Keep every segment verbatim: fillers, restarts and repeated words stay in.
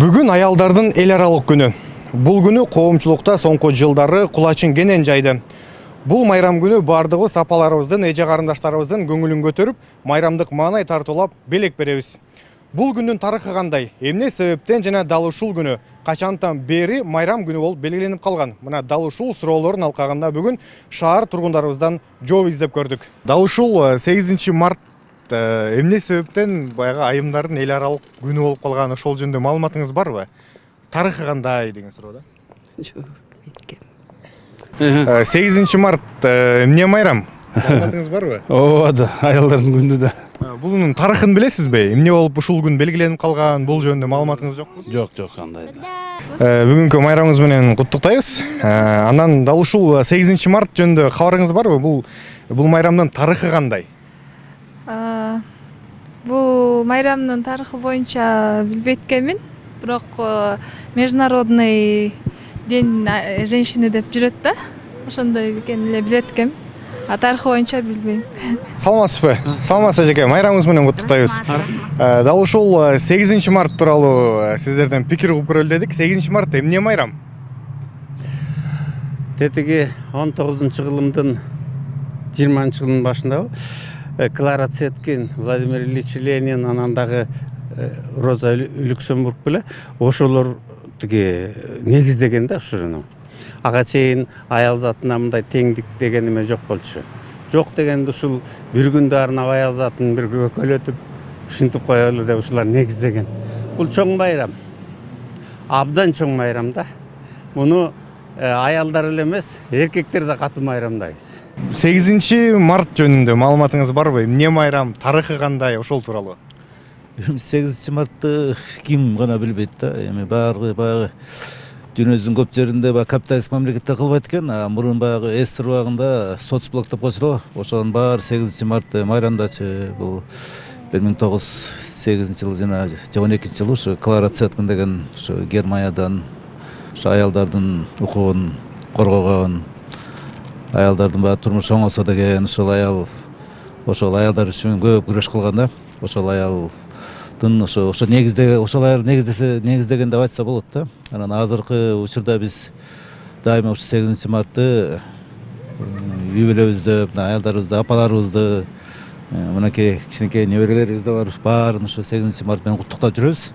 Бүгүн аялдардын эл аралык күнү. Бул күнү коомчулукта соңку жылдары кулачын кенен жайды. Бул майрам күнү бардыгыбыз апаларыбыздын, эже карындаштарыбыздын көңүлүн көтөрүп, майрамдык маанай тартуулап белек беребиз. Бул күндүн тарыхы кандай? Эмне себептен жана дал ушул күнү качантан бери майрам күнү болуп белгиленип калган? Мына дал ушул суроолордун алкагында бүгүн шаар тургундарыбыздан жооп издеп көрдүк. Дал ушул сегизинчи март эмне себептен баягы айымдардын эл аралык күнү болуп калган, ошол жөнүндө маалыматыңыз барбы? Тарыхы кандай деген суроо да? сегизинчи март эмне майрам? Маалыматыңыз барбы? Ооба да, аялдардын күнү да. Бунун тарыхын билесизби? Эмне болуп ушул күн белгиленип калган? Бул жөнүндө маалыматыңыз жокпу? Жок, жок, кандай да. Бүгүнкү майрамыңыз менен куттуктайбыз. Анан дал ушул сегизинчи март жөнүндө кабарыңыз барбы? Бул бул майрамдын тарыхы кандай? Бул майрамдын тарыхы боюнча билбейт экенмин, бирок международный день женщины деп жүрөт да. Ошондой экенин эле билет экенмин. А тарыхы боюнча билбейм. Саламатсызбы? Саламатсыз эжеке, майрамыңыз менен куттуктайбыз. Дал ушул сегизинчи март тууралуу сиздерден пикир угуп көрөлү дедик. сегизинчи март эмне майрам? Тетиги он тогузунчу кылымдын жыйырманчы жылдын башындабы Клара Цеткин, Владимир Ильич Ленин, анан дагы Роза Люксембург беле ошолор тиги негиздеген да ушуну. Ага чейин аял затына мындай теңдик деген эме жок болчу. Жок дегенде ушул бир күндө арнап аял затын бир көкөлөтүп ушинтип коелу деп ушулар негиздеген. Бул чоң майрам. Абдан чоң майрам да. Муну аялдар эле эмес, эркектер да катуу майрамдайбыз. сегизинчи март жөнүндө маалыматыңыз барбы? Эмне майрам, тарыхы кандай, ошол тууралуу? сегизинчи мартты ким гана билбейт да. Эми баары баягы дүйнөбүздүн көп жеринде баягы капиталисттик мамлекетте кылбайт экен, а мурун баягы СССР убагында соцблок деп койсо, ошонун баары сегизинчи мартты майрамдачы. Бул бир миң тогуз жүз сегизинчи жылы жана он экинчи жылы ушу Клара Цеткин деген ушу Германиядан ушу аялдардын укугун коргогон, аялдардын баягы турмушу оңолсо деген ошол аял ошол аялдар үчүн көп күрөш кылган да. Ошол аялдын ошо ошо негизде ошол аял негиздесе негиздеген деп айтса болот да. Анан азыркы учурда биз дайыма ушу сегизинчи мартты үй бүлөбүздө, аялдарыбызды, апаларыбызды, мынакей кичинекей неберелерибиз да бар, баарын ушу сегизинчи март менен куттуктап жүрөбүз.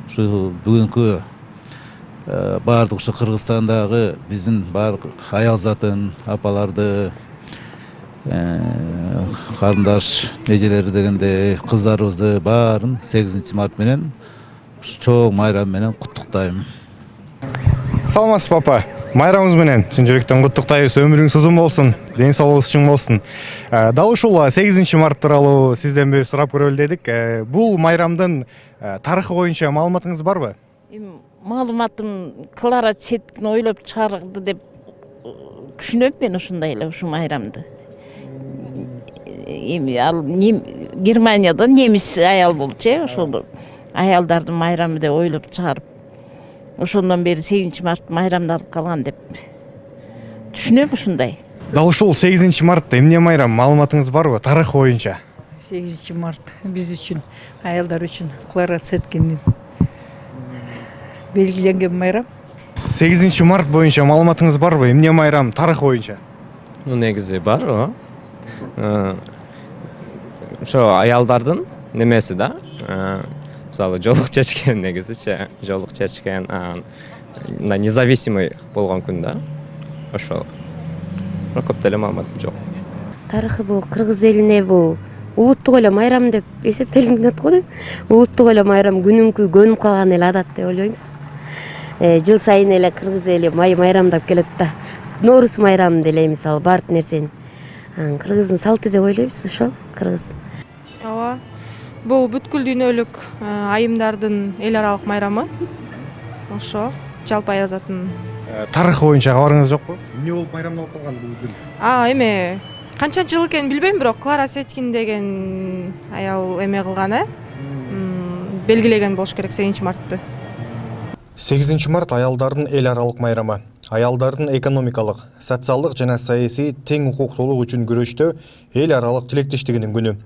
Ушу бүгүнкү баардык ушу Кыргызстандагы биздин баардык аял затын, апаларды, карындаш эжелери дегенде кыздарыбызды баарын сегизинчи март менен чоң майрам менен куттуктайм. Саламатсызбы апа? Майрамыңыз менен чын жүрөктөн куттуктайбыз. Өмүрүңүз узун болсун, ден соолугуңуз чың болсун. Дал ушул сегизинчи март тууралуу сизден бир сурап көрөлү дедик. Бул майрамдын тарыхы боюнча маалыматыңыз барбы? Маалыматым Клара Цеткин ойлоп чыгарды деп түшүнөм мен ушундай эле ушу майрамды. Эми ал Германиядан немис аял болчу, ошол аялдардын майрамы деп ойлоп чыгарып, ошондон бери сегизинчи март майрамдалып калган деп түшүнөм ушундай. Дал ушул сегизинчи март эмне майрам? Маалыматыңыз барбы тарыхы боюнча? сегизинчи март биз үчүн, аялдар үчүн Клара Цеткиндин белгиленген майрам. сегизинчи март боюнча маалыматыңыз барбы? Эмне майрам тарыхы боюнча? Ну негизи бар, о. Ошо аялдардын немеси да. Мисалы жолук чечкен негизичи, жолук чечкен, мына независимый болгон күн да. Ошол. Бирок көп деле маалыматым жок. Тарыхы бул кыргыз элине бул улуттук эле майрам деп эсептелинет го деп. Улуттук эле майрам күнүмкү көнүп калган эле адат деп ойлойбуз. Жыл сайын эле кыргыз эли май майрамдап келет да. Нооруз майрамын деле мисалы баардык нерсени. Кыргыздын салты деп ойлойбуз ошол кыргыз. Ооба. Бул бүткүл дүйнөлүк айымдардын эл аралык майрамы. Ошо жалпы аял затын. Тарыхы боюнча кабарыңыз жокпу? Эмне болуп майрамдалып калган бул күн? А, эме канчанчы жыл экенин билбейм, бирок Клара Цеткин деген аял эме кылган, э? Белгилеген болуш керек сегизинчи мартты. сегизинчи март аялдардын эл аралык майрамы. Аялдардын экономикалык, социалдык жана саясий тең укуктуулук үчүн күрөштө эл аралык тилектештигинин күнү.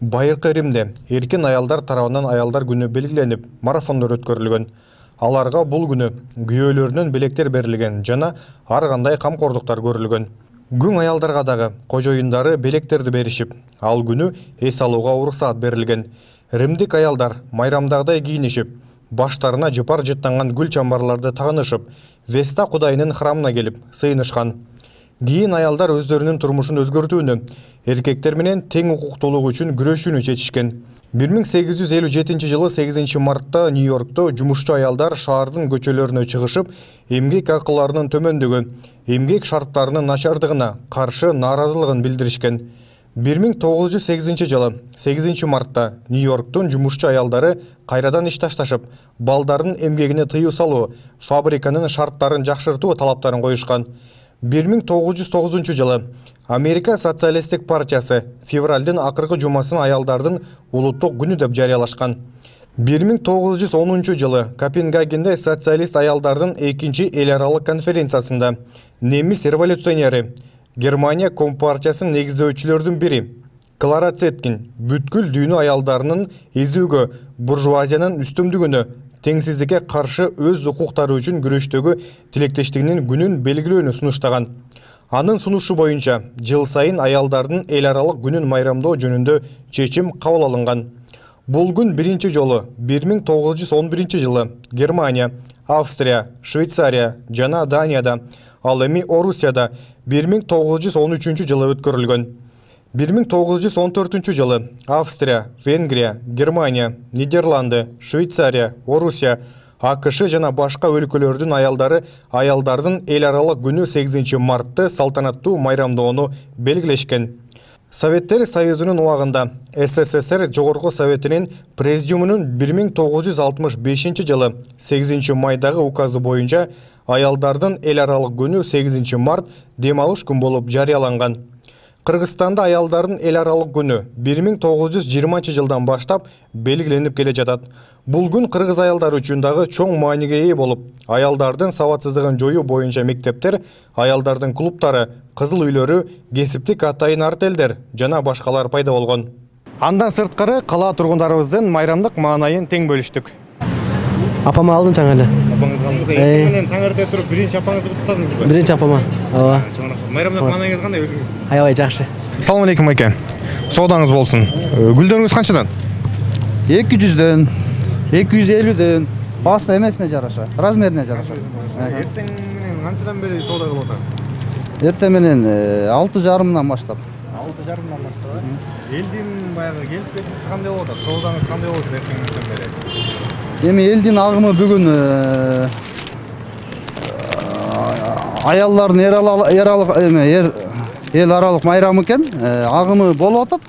Байыркы Римде эркин аялдар тарабынан аялдар күнү белгиленип, марафондор өткөрүлгөн. Аларга бул күнү күйөөлөрүнөн белектер берилген жана ар кандай камкордуктар көрүлгөн. Күң аялдарга дагы кожоюндары белектерди беришип, ал күнү эс алууга уруксаат берилген. Римдик аялдар майрамдагыдай кийинишип, баштарына жыпар жыттанган гүл чамбарларды тагынышып, Веста кудайынын храмына келип сыйынышкан. Кийин аялдар өздөрүнүн турмушун өзгөртүүнү, эркектер менен тең укуктуулук үчүн күрөшүүнү чечишкен. бир миң сегиз жүз элүү жетинчи жылы сегизинчи мартта Нью-Йоркто жумушчу аялдар шаардын көчөлөрүнө чыгышып, эмгек акыларынын төмөндүгү, эмгек шарттарынын начардыгына каршы нааразылыгын билдиришкен. бир миң тогуз жүз сегизинчи жылы сегизинчи мартта Нью-Йорктун жумушчу аялдары кайрадан иш ташташып, балдардын эмгегине тыюу салуу, фабриканын шарттарын жакшыртуу талаптарын коюшкан. бир миң тогуз жүз тогузунчу жылы Америка социалисттик партиясы февралдын акыркы жумасын аялдардын улуттук күнү деп жарыялашкан. бир миң тогуз жүз онунчу жылы Копенгагенде социалист аялдардын экинчи эл аралык конференциясында немис революционери, Германия компартиясынын негиздөөчүлөрдүн бири Клара Цеткин бүткүл дүйнө аялдарынын эзүүгө, буржуазиянын үстүмдүгүнө, теңсиздикке каршы өз укуктары үчүн күрөштөгү тилектештигинин күнүн белгилөөнү сунуштаган. Анын сунушу боюнча жыл сайын аялдардын эл аралык күнүн майрамдоо жөнүндө чечим кабыл алынган. Бул күн биринчи жолу бир миң тогуз жүз он биринчи жылы Германия, Австрия, Швейцария жана Данияда, ал эми Орусияда бир миң тогуз жүз он үчүнчү жылы өткөрүлгөн. бир миң тогуз жүз он төртүнчү жылы Австрия, Венгрия, Германия, Нидерланды, Швейцария, Орусия, АКШ жана башка өлкөлөрдүн аялдары аялдардын эл аралык күнү сегизинчи мартты салтанаттуу майрамдоону белгилешкен. Советтер Союзунун убагында СССР Жогорку Советинин Президиумунун бир миң тогуз жүз алтымыш бешинчи жылы сегизинчи майдагы указы боюнча аялдардын эл аралык күнү сегизинчи март дем алыш күн болуп жарыяланган. Кыргызстанда аялдардын эл аралык күнү бир миң тогуз жүз жыйырманчы жылдан баштап белгиленип келе жатат. Бул күн кыргыз аялдары үчүн дагы чоң мааниге ээ болуп, аялдардын сабатсыздыгын жоюу боюнча мектептер, аялдардын клубтары, кызыл үйлөрү, кесиптик атайын артелдер жана башкалар пайда болгон. Андан сырткары кала тургундарыбыздын майрамдык маанайын тең бөлүштүк. Апама алдым жаңа эле. Апаңызга алдыңыз. Эртең менен таң эрте туруп биринчи апаңызды куттуктадыңызбы? Биринчи апама. Ооба. Майрамдык маанайыңыз кандай өзүңүз? Аябай жакшы. Ассалому алейкум айке. Соодаңыз болсун. Гүлдөрүңүз канчадан? эки жүздөн, эки жүз элүүдөн. Басты эмесине жараша, размерине жараша. Эртең менен канчадан бери соода кылып атасыз? Эртең менен алты жарымдан баштап. алты жарымдан баштап. Элдин баягы келип кетиңиз кандай болуп атат? Соодаңыз кандай болуп атат эртең менен бери? Эми элдин агымы бүгүн аялдардын эр аралык эме эл аралык майрамы экен. Агымы болуп атат.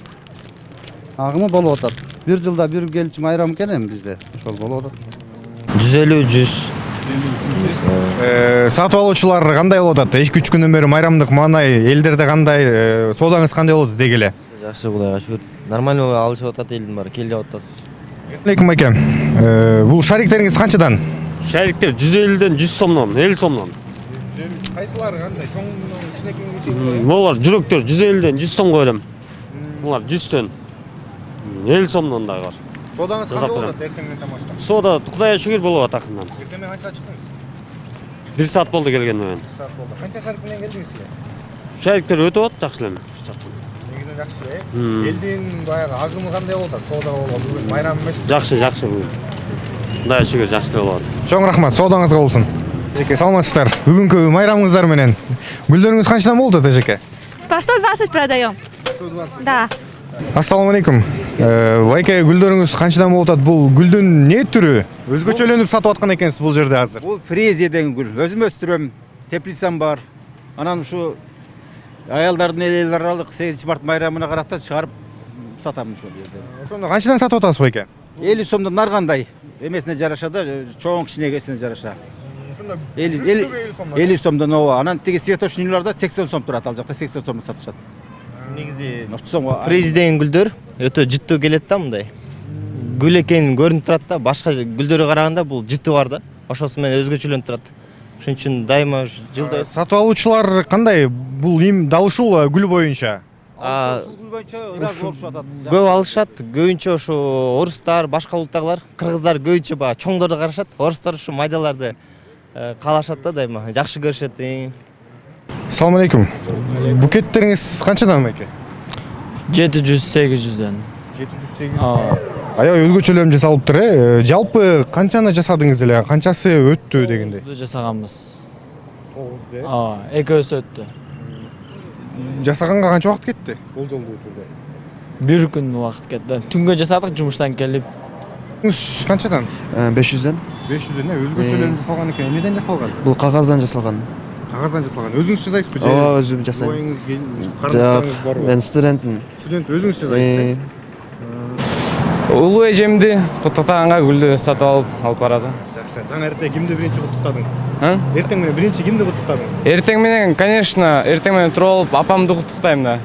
Агымы болуп атат. Бир жылда бир келчү майрам экен эми бизде. Ошол болуп атат. жүз элүү жүз. Сатып алуучулар кандай болуп атат? эки үч күндөн бери майрамдык маанай элдерде кандай? Соодаңыз кандай болуп атат деги эле? Жакшы, Кудайга шүгүр. Нормально алышып атат, элдин баары келип атат. Алейкум айке. Бул шариктериңиз канчадан? Шариктер жүз элүүдөн жүз сомдон, элүү сомдон. Кайсылары кандай? Чоңунун кичинекейин? Булар жүрөктөр жүз элүүдөн жүз сомго берем. Булар жүздөн элүү сомдон дагы бар. Соодаңыз кандай болуп атат эртең менен баштап? Соода Кудайга шүгүр болуп атат акырындан. Эртең менен канчага чыктыңыз? бир саат болду келгениме мен. бир саат болду. Канча шарик менен келдиңиз силер? Шариктер өтүп атат жакшы эле. Негизинен жакшы э. Элдин баягы агымы кандай болуп атат? Соода болуп бүгүн майрам эмес? Жакшы, жакшы бүгүн. Кудайга шүгүр жакшы болуп атат. Чоң рахмат, соодаңызга болсун. Эжеке, саламатсыздар. Бүгүнкү майрамыңыздар менен гүлдөрүңүз канчадан болду, эжеке? По сто двадцать продаем. сто двадцать? Да. Ассаламу алейкум. Байке, гүлдөрүңүз канчадан болуп атат? Бул гүлдүн не түрү? Өзгөчөлөнүп сатып аткан экенсиз бул жерде азыр. Бул фрезия деген гүл. Өзүм өстүрөм, теплицам бар. Анан ушу аялдардын эл аралык сегизинчи март майрамына карата чыгарып сатам ошол жерде. Ошондо канчадан сатып атасыз байке? элүү сомдон ар кандай эмесине жараша да, чоң кичинекесине жараша. Ошондо элүү сомдон ооба. Анан тиги светочныйларда сексен сом турат, ал жакта сексен сомго сатышат. Негизи фрезия деген гүлдөр өтө жыттуу келет да, мындай. Гүл экенин көрүнүп турат да, башка гүлдөргө караганда бул жыты бар да. Ошосу менен өзгөчөлөнүп турат. Ошон үчүн дайыма жылда сатып алуучулар кандай? Бул им дал ушул гүл боюнча Көп алышат, көбүнчө ушу орустар, башка улуттагылар, кыргыздар көбүнчө баягы чоңдорду карашат. Орустар ушу майдаларды каалашат да дайыма, жакшы көрүшөт. Салам алейкум. Букеттериңиз канчадан экен? жети жүз сегиз жүздөн. жети жүз сегиз жүз. Аябай өзгөчөлөрүн жасалыптыр, э? Жалпы канчаны жасадыңыз эле? Канчасы өттү дегендей? Жасаганбыз. тогуз де? Ооба, экөөсү өттү. Жасаганга канча убакыт кетти? Бул жолду өтүүгө. Бир күн убакыт кетти. Түнгө жасадык жумуштан келип. Канчадан? беш жүздөн. беш жүздөн, э? Өзгөчөлөрүн жасалган экен. Эмнеден жасалган? Бул кагаздан жасалган. Кагаздан жасалган. Өзүңүз жасайсызбы же? Ооба, өзүм жасайм. Карындашыңыз барбы? Мен студентмин. Студент өзүңүз жасайсыз? Улуу эжемди куттуктаганга гүлдү сатып алып алып барады. Жакшы. Таң эрте кимди биринчи куттуктадың? А? Эртең менен биринчи кимди куттуктадың? Эртең менен, конечно, эртең менен туруп алып апамды куттуктайм да.